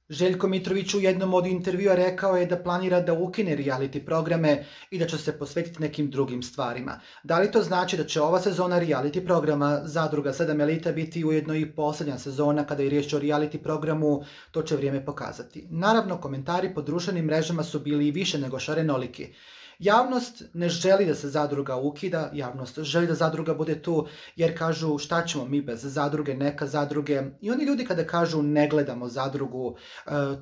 Željko Mitrović u jednom od intervjua rekao je da planira da ukine reality programe i da će se posvetiti nekim drugim stvarima. Da li to znači da će ova sezona reality programa Zadruga 7 Elita biti ujedno i posljednja sezona kada je riječ o reality programu, to će vrijeme pokazati. Naravno, komentari po društvenim mrežama su bili i više nego šarenoliki. Javnost ne želi da se Zadruga ukida, javnost želi da Zadruga bude tu jer kažu šta ćemo mi bez Zadruge, neka Zadruge. I oni ljudi kada kažu ne gledamo Zadrugu,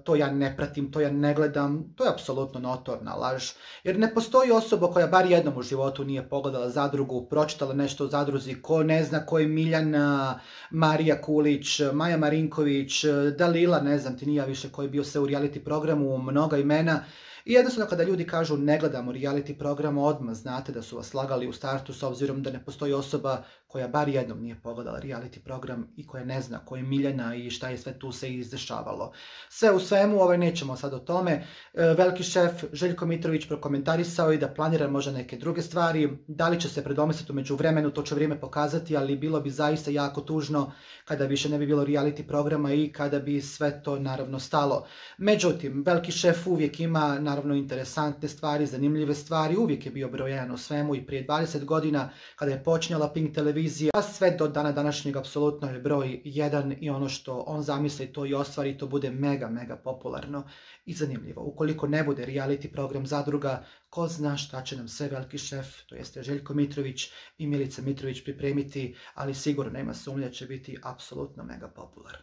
to ja ne pratim, to ja ne gledam, to je apsolutno notorna laž. Jer ne postoji osoba koja bar jednom u životu nije pogledala Zadrugu, pročitala nešto o Zadruzi, ko ne zna ko je Miljana, Marija Kulić, Maja Marinković, Dalila, ne znam ti nija više ko je bio sve u reality programu, mnoga imena. I jednostavno kada ljudi kažu ne gledamo reality program, odmah znate da su vas slagali u startu s obzirom da ne postoji osoba koja bar jednom nije pogledala reality program i koja ne zna ko je Miljana i šta je sve tu se izdešavalo. Sve u svemu, nećemo sad o tome. Veliki šef Željko Mitrović prokomentarisao i da planira možda neke druge stvari. Da li će se predomisliti u međuvremenu, to će vrijeme pokazati, ali bilo bi zaista jako tužno kada više ne bi bilo reality programa i kada bi sve to naravno stalo. Međutim, veliki šef uvijek ima naravno interesantne stvari, zanimljive stvari, uvijek je bio broj 1 u svemu i prije 20 godina kada je počinjala Pink televizija, a sve do dana današnjeg apsolutno je broj 1 i ono što on zamisli to i ostvari, to bude mega popularno i zanimljivo. Ukoliko ne bude reality program Zadruga, ko zna šta će nam sve veliki šef, to jeste Željko Mitrović i Milica Mitrović pripremiti, ali sigurno nema sumnje da će biti apsolutno mega popularno.